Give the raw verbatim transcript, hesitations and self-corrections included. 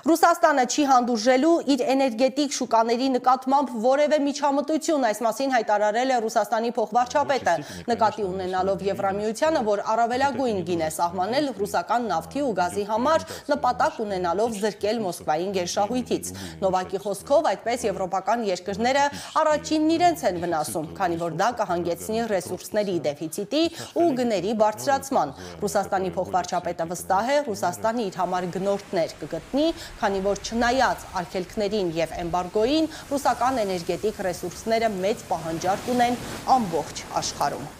Ռուսաստանը չի հանդուրժելու իր էներգետիկ շուկաների նկատմամբ որևէ միջամտություն, այս մասին հայտարարել է Ռուսաստանի փոխվարչապետը, նկատի ունենալով Եվրամիությանը, որ առավելագույն գին է սահմանել ռուսական նավթի ու գազի համար, նպատակ ունենալով զրկել Մոսկվային գերշահույթից։ Նովակի խոսքով, այդպես եվրոպական երկրները առաջինն իրենց են վնասում, քանի որ դա կհանգեցնի ռեսուրսների դեֆիցիտի ու գների բարձրացման։ Ռուսաստանի փոխվարչապետը վստահ է, Ռուսաստանը իր համար գնորդներ կգտնի, քանի որ չնայած արգելքներին և էմբարգոյին, ռուսական էներգետիկ ռեսուրսները մեծ պահանջարկ ունեն ամբողջ աշխարհում։